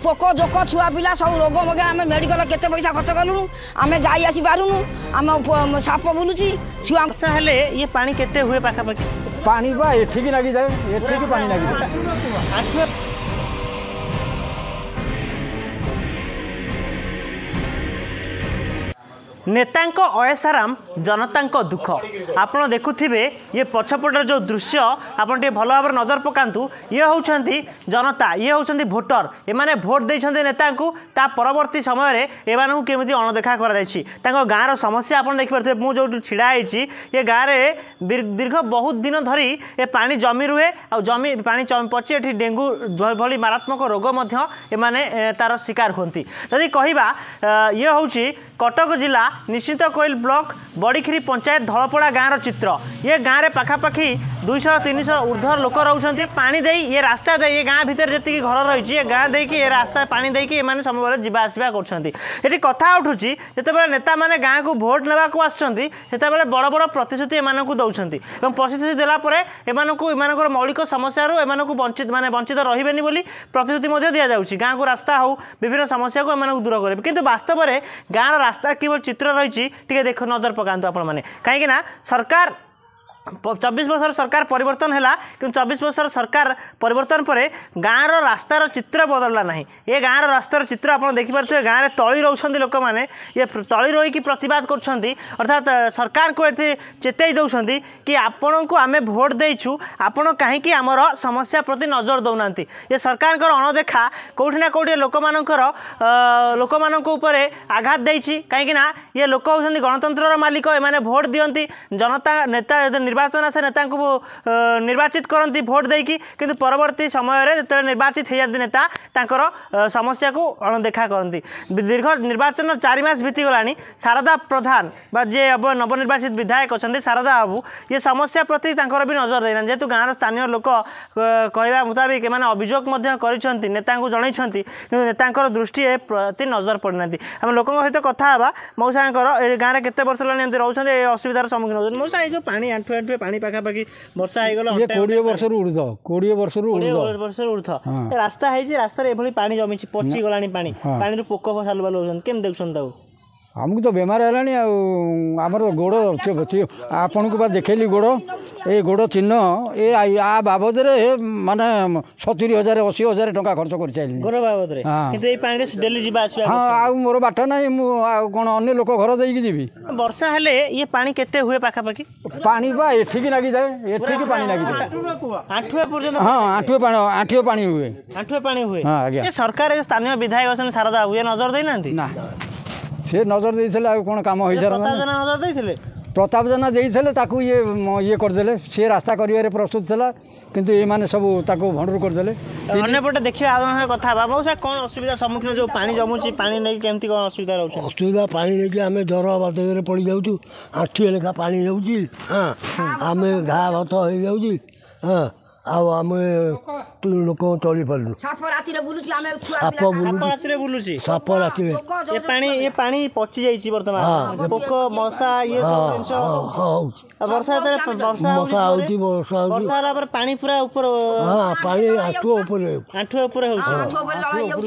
ପୋକ ଜୋକ ଛୁଆ ପିଲା ସବୁ ରୋଗ ମଗା, ଆମେ ମେଡ଼ିକାଲ କେତେ ପଇସା ଖର୍ଚ୍ଚ କଲୁଣୁ, ଆମେ ଯାଇ ଆସି ପାରୁନୁ। ଆମ ସାପ ବୁଲୁଛି ଛୁଆ। ବର୍ଷା ହେଲେ ଇଏ ପାଣି କେତେ ହୁଏ ପାଖାପାଖି? ପାଣି ବା ଏଠିକି ଲାଗିଯାଏ, ଏଠିକି ପାଣି ଲାଗିଯାଏ। ଆଣ୍ଠୁଏ। ନେତାଙ୍କ ଅୟସାରାମ, ଜନତାଙ୍କ ଦୁଃଖ। ଆପଣ ଦେଖୁଥିବେ ଇଏ ପଛପଟର ଯେଉଁ ଦୃଶ୍ୟ, ଆପଣ ଟିକେ ଭଲ ଭାବରେ ନଜର ପକାନ୍ତୁ। ଇଏ ହେଉଛନ୍ତି ଜନତା, ଇଏ ହେଉଛନ୍ତି ଭୋଟର। ଏମାନେ ଭୋଟ ଦେଇଛନ୍ତି ନେତାଙ୍କୁ, ତା ପରବର୍ତ୍ତୀ ସମୟରେ ଏମାନଙ୍କୁ କେମିତି ଅଣଦେଖା କରାଯାଇଛି। ତାଙ୍କ ଗାଁର ସମସ୍ୟା ଆପଣ ଦେଖିପାରୁଥିବେ। ମୁଁ ଯେଉଁଠି ଛିଡ଼ା ହେଇଛି ଏ ଗାଁରେ ଦୀର୍ଘ ବହୁତ ଦିନ ଧରି ଏ ପାଣି ଜମି ରୁହେ, ଆଉ ଜମି ପାଣି ପଚି ଏଠି ଡେଙ୍ଗୁ ଭଳି ମାରାତ୍ମକ ରୋଗ ମଧ୍ୟ ଏମାନେ ତାର ଶିକାର ହୁଅନ୍ତି। ଯଦି କହିବା, ଇଏ ହେଉଛି କଟକ ଜିଲ୍ଲା ନିଶ୍ଚିନ୍ତକୋଇଲ ବ୍ଲକ ବଡ଼ିଖିରି ପଞ୍ଚାୟତ ଧଳପଡ଼ା ଗାଁର ଚିତ୍ର। ଇଏ ଗାଁରେ ପାଖାପାଖି 200 300 ଉର୍ଦ୍ଧ୍ୱ ଲୋକ ରହୁଛନ୍ତି। ପାଣି ଦେଇ ଇଏ ରାସ୍ତା ଦେଇ, ଏ ଗାଁ ଭିତରେ ଯେତିକି ଘର ରହିଛି, ଏ ଗାଁ ଦେଇକି ଏ ରାସ୍ତା ପାଣି ଦେଇକି ଏମାନେ ସବୁବେଳେ ଯିବା ଆସିବା କରୁଛନ୍ତି। ଏଠି କଥା ଉଠୁଛି, ଯେତେବେଳେ ନେତାମାନେ ଗାଁକୁ ଭୋଟ ନେବାକୁ ଆସୁଛନ୍ତି, ସେତେବେଳେ ବଡ଼ ବଡ଼ ପ୍ରତିଶ୍ରୁତି ଏମାନଙ୍କୁ ଦେଉଛନ୍ତି, ଏବଂ ପ୍ରତିଶ୍ରୁତି ଦେଲା ପରେ ଏମାନଙ୍କୁ ଏମାନଙ୍କର ମୌଳିକ ସମସ୍ୟାରୁ ଏମାନଙ୍କୁ ବଞ୍ଚିତ, ମାନେ ବଞ୍ଚିତ ରହିବେନି ବୋଲି ପ୍ରତିଶ୍ରୁତି ମଧ୍ୟ ଦିଆଯାଉଛି। ଗାଁକୁ ରାସ୍ତା ହେଉ, ବିଭିନ୍ନ ସମସ୍ୟାକୁ ଏମାନଙ୍କୁ ଦୂର କରିବେ। କିନ୍ତୁ ବାସ୍ତବରେ ଗାଁର ରାସ୍ତା କିଭଳି ଚିତ୍ର ରହିଛି ଟିକେ ଦେଖ, ନଜର ପକାନ୍ତୁ ଆପଣମାନେ। କାହିଁକିନା ସରକାର 24 ବର୍ଷର ସରକାର ପରିବର୍ତ୍ତନ ହେଲା, କିନ୍ତୁ 24 ବର୍ଷର ସରକାର ପରିବର୍ତ୍ତନ ପରେ ଗାଁର ରାସ୍ତାର ଚିତ୍ର ବଦଳିଲା ନାହିଁ। ଏ ଗାଁର ରାସ୍ତାର ଚିତ୍ର ଆପଣ ଦେଖିପାରୁଥିବେ। ଗାଁରେ ତଳି ରହୁଛନ୍ତି ଲୋକମାନେ, ଇଏ ତଳି ରହିକି ପ୍ରତିବାଦ କରୁଛନ୍ତି, ଅର୍ଥାତ୍ ସରକାରଙ୍କୁ ଏଠି ଚେତାଇ ଦେଉଛନ୍ତି କି ଆପଣଙ୍କୁ ଆମେ ଭୋଟ ଦେଇଛୁ, ଆପଣ କାହିଁକି ଆମର ସମସ୍ୟା ପ୍ରତି ନଜର ଦେଉନାହାନ୍ତି? ଏ ସରକାରଙ୍କର ଅଣଦେଖା କେଉଁଠି ନା କେଉଁଠି ଲୋକମାନଙ୍କର ଲୋକମାନଙ୍କ ଉପରେ ଆଘାତ ଦେଇଛି। କାହିଁକିନା ଇଏ ଲୋକ ହେଉଛନ୍ତି ଗଣତନ୍ତ୍ରର ମାଲିକ, ଏମାନେ ଭୋଟ ଦିଅନ୍ତି ଜନତା। ନେତା ନିର୍ବାଚନ ଆସେ, ନେତାଙ୍କୁ ନିର୍ବାଚିତ କରନ୍ତି ଭୋଟ ଦେଇକି, କିନ୍ତୁ ପରବର୍ତ୍ତୀ ସମୟରେ ଯେତେବେଳେ ନିର୍ବାଚିତ ହେଇଯାନ୍ତି ନେତା, ତାଙ୍କର ସମସ୍ୟାକୁ ଅଣଦେଖା କରନ୍ତି। ଦୀର୍ଘ ନିର୍ବାଚନ 4 ମାସ ବିତିଗଲାଣି, ଶାରଦା ପ୍ରଧାନ ବା ଯିଏ ନବନିର୍ବାଚିତ ବିଧାୟକ ଅଛନ୍ତି ଶାରଦା ବାବୁ, ଇଏ ସମସ୍ୟା ପ୍ରତି ତାଙ୍କର ବି ନଜର ଦେଇନାହାନ୍ତି। ଯେହେତୁ ଗାଁର ସ୍ଥାନୀୟ ଲୋକ କହିବା ମୁତାବିକ ଏମାନେ ଅଭିଯୋଗ ମଧ୍ୟ କରିଛନ୍ତି, ନେତାଙ୍କୁ ଜଣାଇଛନ୍ତି, କିନ୍ତୁ ନେତାଙ୍କର ଦୃଷ୍ଟି ଏ ପ୍ରତି ନଜର ପଡ଼ିନାହାନ୍ତି। ଆମେ ଲୋକଙ୍କ ସହିତ କଥା ହେବା। ମଉସାଙ୍କର ଏ ଗାଁରେ କେତେ ବର୍ଷ ହେଲାଣି ଏମିତି ରହୁଛନ୍ତି, ଏ ଅସୁବିଧାର ସମ୍ମୁଖୀନ ହେଉଛନ୍ତି? ମଉସା, ଏଇ ଯେଉଁ ପାଣି ଆଣ୍ଠୁ ଆଣ୍ଠୁଏ ପାଣି ପାଖାପାଖି ବର୍ଷା ହେଇଗଲା, 20 ବର୍ଷରୁ ଉର୍ଦ୍ଧ୍ୱ, 20 ବର୍ଷରୁ ଉର୍ଦ୍ଧ୍ୱ, ବର୍ଷରୁ ଉର୍ଦ୍ଧ୍ୱ ରାସ୍ତା ହେଇଛି, ରାସ୍ତାରେ ଏଭଳି ପାଣି ଜମିଛି, ପଚିଗଲାଣି ପାଣି, ପାଣିରୁ ପୋକ ସାଲୁବାଲୁ ହେଉଛନ୍ତି, କେମିତି ଦେଖୁଛନ୍ତି ତାକୁ? ଆମକୁ ତ ବେମାର ହେଲାଣି। ଆଉ ଆମର ଗୋଡ଼ ଆପଣଙ୍କୁ ବା ଦେଖେଇଲି ଗୋଡ଼, ଏ ଗୋଡ଼ ଚିହ୍ନ। ଏ ଆ ବାବଦରେ ମାନେ 70 ହଜାର 80 ହଜାର ଟଙ୍କା ଖର୍ଚ୍ଚ କରିସାରିଲିଣି ଗୋଡ଼ ବାବଦରେ, କିନ୍ତୁ ଏଇ ପାଣିରେ ଡେଲି ଯିବା ଆସିବା। ହଁ, ଆଉ ମୋର ବାଟ ନାହିଁ। ମୁଁ ଆଉ କ'ଣ ଅନ୍ୟ ଲୋକ ଘର ଦେଇକି ଯିବି? ବର୍ଷା ହେଲେ ଇଏ ପାଣି କେତେ ହୁଏ ପାଖାପାଖି? ପାଣି ବା ଏଠିକି ଲାଗିଯାଏ, ଏଠିକି ପାଣି ଲାଗିଯାଏ। ଆଣ୍ଠୁଏ ପର୍ଯ୍ୟନ୍ତ? ହଁ, ଆଣ୍ଠୁଏ ପାଣି, ଆଣ୍ଠୁଏ ପାଣି ହୁଏ, ଆଣ୍ଠୁଏ ପାଣି ହୁଏ। ହଁ ଆଜ୍ଞା। ସରକାର, ସ୍ଥାନୀୟ ବିଧାୟକ ଅଛନ୍ତି ଶାରଦା ବାବୁ, ଇଏ ନଜର ଦେଇନାହାନ୍ତି? ନା, ସେ ନଜର ଦେଇଥିଲେ ଆଉ କ'ଣ କାମ ହେଇସାରନ୍ତା? ନଜର ଦେଇଥିଲେ, ପ୍ରତାପ ଜେନା ଦେଇଥିଲେ, ତାକୁ ଇଏ ଇଏ କରିଦେଲେ। ସିଏ ରାସ୍ତା କରିବାରେ ପ୍ରସ୍ତୁତ ଥିଲା, କିନ୍ତୁ ଏମାନେ ସବୁ ତାକୁ ଭଣ୍ଡୁର କରିଦେଲେ। ଅନ୍ୟପଟେ ଦେଖିବା, ଆଉ କଥା ହେବା। ମଉସା, କ'ଣ ଅସୁବିଧା ସମ୍ମୁଖୀନ? ଯେଉଁ ପାଣି ଜମୁଛି, ପାଣି ନେଇକି କେମିତି କ'ଣ ଅସୁବିଧା ରହୁଛି? ଅସୁବିଧା ପାଣି ନେଇକି ଆମେ ଜ୍ୱର ବାଧରେ ପଡ଼ିଯାଉଛୁ। ଆଣ୍ଠୁଏ ଲେଖା ପାଣି ଯାଉଛି। ହଁ, ଆମେ ଘା ଭାତ ହେଇଯାଉଛି। ହଁ, ଆଉ ଆମେ ଲୋକ ଚଳି ପାରୁନୁ। ସାପ ରାତିରେ ବୁଲୁଛି, ଆମେ ସାପ ବୁଲୁଛି, ରାତିରେ ବୁଲୁଛି ସାପ ରାତିରେ। ଏ ପାଣି, ଏ ପାଣି ପଚି ଯାଇଛି ବର୍ତ୍ତମାନ, ପୋକ ମଶା ଇଏ ସବୁ ଜିନିଷ ହଉଛି। ବର୍ଷା ଯେତେବେଳେ ବର୍ଷା ମଶା ହଉଛି, ବର୍ଷା ହଉଛି, ବର୍ଷା ହେଲା ପରେ ପାଣି ପୁରା ଉପର। ହଁ, ପାଣି ଆଣ୍ଠୁ ଉପରେ, ଆଣ୍ଠୁ ଉପରେ ହଉଛି।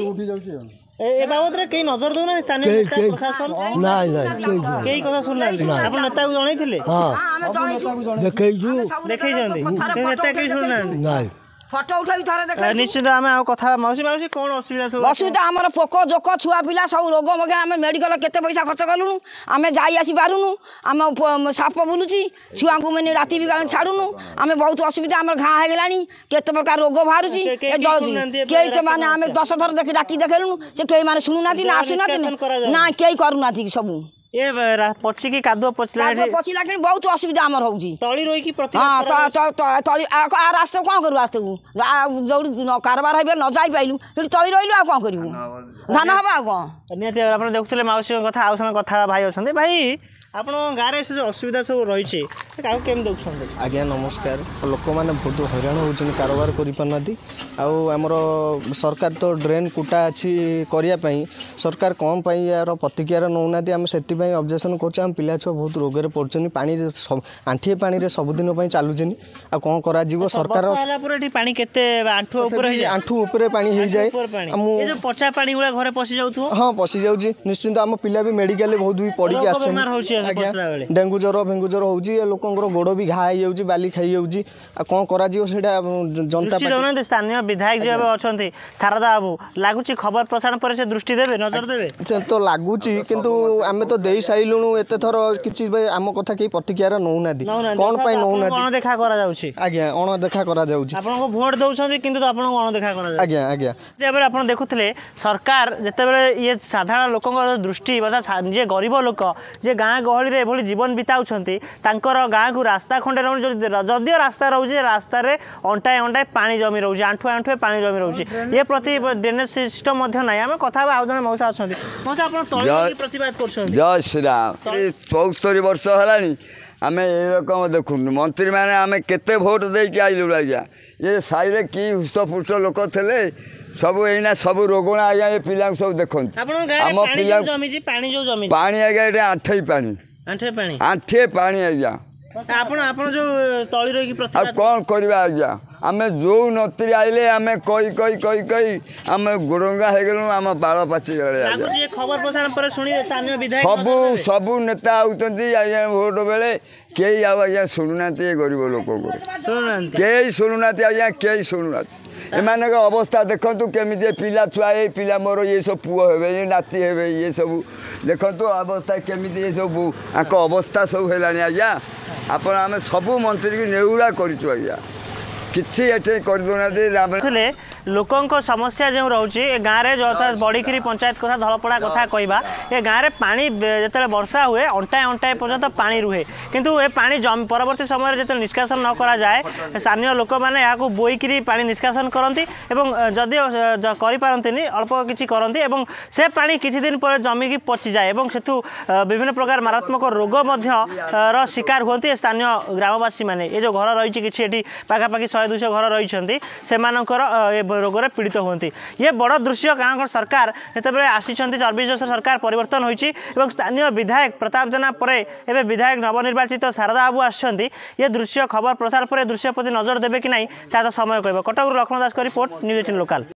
ଏ ବାବଦରେ କେହି ନଜର ଦଉନାହାନ୍ତି ସ୍ଥାନୀୟ ନେତା, ପ୍ରଶାସନ? ନାଇଁ ନାଇଁ, କେହି କଥା ଶୁଣୁନାହାନ୍ତି। ଆପଣ ନେତାକୁ ଜଣେଇଥିଲେ? ହଁ, ଦେଖେଇଛୁ, ଦେଖେଇଛନ୍ତି, ନେତା କେହି ଶୁଣୁନାହାନ୍ତି। ନାଇଁ। ଫଟୋ ଉଠେଇ ଥରେ ଦେଖ। ନିଶ୍ଚିତ ଆମେ ଆଉ କଥା। ମାଉସୀ, ମାଉସୀ, କ'ଣ ଅସୁବିଧା ସବୁ? ଅସୁବିଧା ଆମର ପୋକ ଜୋକ ଛୁଆ ପିଲା ସବୁ ରୋଗ ମଗା, ଆମେ ମେଡ଼ିକାଲ କେତେ ପଇସା ଖର୍ଚ୍ଚ କଲୁଣୁ, ଆମେ ଯାଇ ଆସି ପାରୁନୁ। ଆମ ସାପ ବୁଲୁଛି, ଛୁଆଙ୍କୁ ମାନେ ରାତି ବି ଛାଡ଼ୁନୁ। ଆମେ ବହୁତ ଅସୁବିଧା, ଆମର ଘା ହେଇଗଲାଣି, କେତେ ପ୍ରକାର ରୋଗ ବାହାରୁଛି। କେହି ତ ମାନେ ଆମେ 10 ଥର ଦେଖି ଡାକି ଦେଖେଇଲୁଣୁ, ସେ କେହି ମାନେ ଶୁଣୁନାହାନ୍ତି ନା ଆସୁନାହାନ୍ତି ନା କେହି କରୁନାହାନ୍ତି। ସବୁ ଏ ପଚିକି କାଦୁଅ ପଚିଲା, ପଚିଲା କିଣି ବହୁତ ଅସୁବିଧା ଆମର ହଉଛି। ତଳି ରହିକି? ହଁ, ତଳି। ରାସ୍ତା କ'ଣ କରିବୁ? ରାସ୍ତାକୁ ଯୋଉଠି କାରବାର ହେଇପାରିବ ନ ଯାଇପାରିଲୁ, ସେଠି ତଳି ରହିଲୁ, ଆଉ କ'ଣ କରିବୁ? ଧାନ ହବ ଆଉ କ'ଣ? ନିହାତି ଆପଣ ଦେଖୁଥିଲେ ମାଉସୀଙ୍କ କଥା। ଆଉ ସମୟ କଥା ଭାଇ ଅଛନ୍ତି। ଭାଇ, ଆପଣଙ୍କ ଗାଁରେ ସେ ଯେଉଁ ଅସୁବିଧା ସବୁ ରହିଛି, କାହାକୁ କେମିତି ଦେଖୁଛନ୍ତି? ଆଜ୍ଞା ନମସ୍କାର। ଲୋକମାନେ ବହୁତ ହଇରାଣ ହେଉଛନ୍ତି, କାରବାର କରିପାରୁନାହାନ୍ତି। ଆଉ ଆମର ସରକାର ତ ଡ୍ରେନ୍ କୁଟା ଅଛି କରିବା ପାଇଁ, ସରକାର କ'ଣ ପାଇଁ ଏହାର ପ୍ରତିକ୍ରିୟା ନେଉନାହାନ୍ତି? ଆମେ ସେଥିପାଇଁ ଅବଜେକ୍ସନ୍ କରୁଛୁ। ଆମ ପିଲା ଛୁଆ ବହୁତ ରୋଗରେ ପଡ଼ୁଛନ୍ତି, ପାଣିରେ ଆଣ୍ଠିଏ ପାଣିରେ ସବୁଦିନ ପାଇଁ ଚାଲୁଛନ୍ତି। ଆଉ କ'ଣ କରାଯିବ? ସରକାର ହେଲା ପରେ ଏଠି ପାଣି କେତେ ଆଣ୍ଠୁ ଉପରେ? ଆଣ୍ଠୁ ଉପରେ ପାଣି ହେଇଯାଏ। ମୁଁ ପଚା ପାଣି ଗୁଡ଼ା ଘରେ ପଶି ଯାଉଥିବ? ହଁ, ପଶି ଯାଉଛି ନିଶ୍ଚିନ୍ତ। ଆମ ପିଲା ବି ମେଡ଼ିକାଲରେ ବହୁତ ବି ପଡ଼ିକି ଆସୁଛନ୍ତି ଆଜ୍ଞା। ଡେଙ୍ଗୁ ଜ୍ୱର, ଫେଙ୍ଗୁ ଜ୍ୱର ହେଉଛି, ଲୋକଙ୍କର ଗୋଡ଼ ବି ଘା ହେଇଯାଉଛି, ବାଲି ଖାଇଯାଉଛି। ଆଉ କ'ଣ କରାଯିବ ସେଇଟା ଜନତା ଦେଉନାହାନ୍ତି। ସ୍ଥାନୀୟ ବିଧାୟକ ଯିଏ ଏବେ ଅଛନ୍ତି ଶାରଦା ବାବୁ, ଲାଗୁଛି ଖବର ପ୍ରସାରଣ ପରେ ସେ ଦୃଷ୍ଟି ଦେବେ, ନଜର ଦେବେ? ତ ଲାଗୁଛି, କିନ୍ତୁ ଆମେ ତ ଦେଇ ସାରିଲୁଣୁ ଏତେ ଥର, କିଛି ଆମ କଥା କେହି ପ୍ରତିକ୍ରିୟା ନେଉନାହାନ୍ତି। କ'ଣ ପାଇଁ ନେଉନାହାନ୍ତି? ଅଣଦେଖା କରାଯାଉଛି ଆଜ୍ଞା, ଅଣଦେଖା କରାଯାଉଛି। ଆପଣଙ୍କୁ ଭୋଟ ଦେଉଛନ୍ତି କିନ୍ତୁ ଆପଣଙ୍କୁ ଅଣଦେଖା କରାଯାଉଛି। ଆଜ୍ଞା ଆଜ୍ଞା। ଏବେ ଆପଣ ଦେଖୁଥିଲେ ସରକାର ଯେତେବେଳେ ଇଏ ସାଧାରଣ ଲୋକଙ୍କର ଦୃଷ୍ଟି ବା ଯିଏ ଗରିବ ଲୋକ, ଯିଏ ଗାଁ ଗହଳିରେ ଏଭଳି ଜୀବନ ବିତାଉଛନ୍ତି, ତାଙ୍କର ଗାଁକୁ ରାସ୍ତା ଖଣ୍ଡେ ରହୁନି। ଯଦିଓ ରାସ୍ତା ରହୁଛି, ରାସ୍ତାରେ ଅଣ୍ଟାଏ ଅଣ୍ଟାଏ ପାଣି ଜମି ରହୁଛି, ଆଣ୍ଠୁଏ ଆଣ୍ଠୁଏ ପାଣି ଜମି ରହୁଛି। ଏ ପ୍ରତି ଡ୍ରେନେଜ୍ ସିଷ୍ଟମ୍ ମଧ୍ୟ ନାହିଁ। ଆମେ କଥା ହେବା, ଆଉ ଜଣେ ମଉସା ଅଛନ୍ତି। ମଉସା, ଆପଣ ତଳେ ପ୍ରତିବାଦ କରୁଛନ୍ତି? ଜୟ ଶ୍ରୀରାମ। 74 ବର୍ଷ ହେଲାଣି ଆମେ ଏରକମ ଦେଖୁନୁ। ମନ୍ତ୍ରୀମାନେ ଆମେ କେତେ ଭୋଟ ଦେଇକି ଆଇଲୁ ଆଜ୍ଞା। ଏ ସାହିରେ କି ହୃଷ୍ଟପୁଷ୍ଟ ଲୋକ ଥିଲେ ସବୁ, ଏଇନା ସବୁ ରୋଗଣା ଆଜ୍ଞା। ଏ ପିଲାଙ୍କୁ ସବୁ ଦେଖନ୍ତୁ। ଆମ ପିଲା ପାଣି ଆଜ୍ଞା, ଏଠି ଆଣ୍ଠେଇ ପାଣି, ଆଣ୍ଠିଏ ପାଣି ଆଜ୍ଞା। ଆପଣ ଯୋଉ ତଳି ରହିକି ଆଉ କ'ଣ କରିବା ଆଜ୍ଞା? ଆମେ ଯୋଉ ନତିରି ଆଇଲେ ଆମେ କହି କହି କହି କହି ଆମେ ଗୋଡ଼ଙ୍ଗା ହେଇଗଲୁ, ଆମ ବାଳ ପାଚିଗଲେ। ସବୁ ସବୁ ନେତା ଆଉଛନ୍ତି ଆଜ୍ଞା ଭୋଟ ବେଳେ, କେହି ଆଉ ଆଜ୍ଞା ଶୁଣୁନାହାନ୍ତି। ଏ ଗରିବ ଲୋକଙ୍କୁ କେହି ଶୁଣୁନାହାନ୍ତି ଆଜ୍ଞା, କେହି ଶୁଣୁନାହାନ୍ତି। ଏମାନଙ୍କ ଅବସ୍ଥା ଦେଖନ୍ତୁ କେମିତି ପିଲା ଛୁଆ, ଏଇ ପିଲା ମୋର, ଇଏ ସବୁ ପୁଅ ହେବେ, ଇଏ ନାତି ହେବେ, ଇଏ ସବୁ ଦେଖନ୍ତୁ ଅବସ୍ଥା କେମିତି, ଏ ସବୁ ଆଙ୍କ ଅବସ୍ଥା ସବୁ ହେଲାଣି ଆଜ୍ଞା। ଆପଣ ଆମେ ସବୁ ମନ୍ତ୍ରୀକି ନେଉରା କରିଛୁ ଆଜ୍ଞା, କିଛି ଏଠି କରିଦେଉନାହାନ୍ତି। ଲୋକଙ୍କ ସମସ୍ୟା ଯେଉଁ ରହୁଛି ଏ ଗାଁରେ, ଯଥା ବଡ଼ିଖିରି ପଞ୍ଚାୟତ କଥା, ଧଳପଡ଼ା କଥା କହିବା, ଏ ଗାଁରେ ପାଣି ଯେତେବେଳେ ବର୍ଷା ହୁଏ ଅଣ୍ଟାଏ ଅଣ୍ଟାଏ ପର୍ଯ୍ୟନ୍ତ ପାଣି ରୁହେ। କିନ୍ତୁ ଏ ପାଣି ପରବର୍ତ୍ତୀ ସମୟରେ ଯେତେବେଳେ ନିଷ୍କାସନ ନ କରାଯାଏ, ସ୍ଥାନୀୟ ଲୋକମାନେ ଏହାକୁ ବୋଇକିରି ପାଣି ନିଷ୍କାସନ କରନ୍ତି ଏବଂ ଯଦିଓ କରିପାରନ୍ତିନି, ଅଳ୍ପ କିଛି କରନ୍ତି ଏବଂ ସେ ପାଣି କିଛି ଦିନ ପରେ ଜମିକି ପଚିଯାଏ ଏବଂ ସେଠୁ ବିଭିନ୍ନ ପ୍ରକାର ମାରାତ୍ମକ ରୋଗ ମଧ୍ୟ ର ଶିକାର ହୁଅନ୍ତି ଏ ସ୍ଥାନୀୟ ଗ୍ରାମବାସୀମାନେ। ଏ ଯେଉଁ ଘର ରହିଛି କିଛି ଏଠି ପାଖାପାଖି 100 200 ଘର ରହିଛନ୍ତି, ସେମାନଙ୍କର ଏ ରୋଗରେ ପୀଡ଼ିତ ହୁଅନ୍ତି। ଇଏ ବଡ଼ ଦୃଶ୍ୟ, କାରଣ ସରକାର ଯେତେବେଳେ ଆସିଛନ୍ତି 24 ବର୍ଷ ସରକାର ପରିବର୍ତ୍ତନ ହୋଇଛି ଏବଂ ସ୍ଥାନୀୟ ବିଧାୟକ ପ୍ରତାପ ଜେନା ପରେ ଏବେ ବିଧାୟକ ନବନିର୍ବାଚିତ ଶାରଦା ବାବୁ ଆସିଛନ୍ତି। ଇଏ ଦୃଶ୍ୟ ଖବର ପ୍ରସାର ପରେ ଦୃଶ୍ୟ ପ୍ରତି ନଜର ଦେବେ କି ନାହିଁ ତା ତ ସମୟ କହିବ। କଟକରୁ ଲକ୍ଷ୍ମଣ ଦାସଙ୍କ ରିପୋର୍ଟ, ନ୍ୟୁଜ୍ 18 ଲୋକାଲ।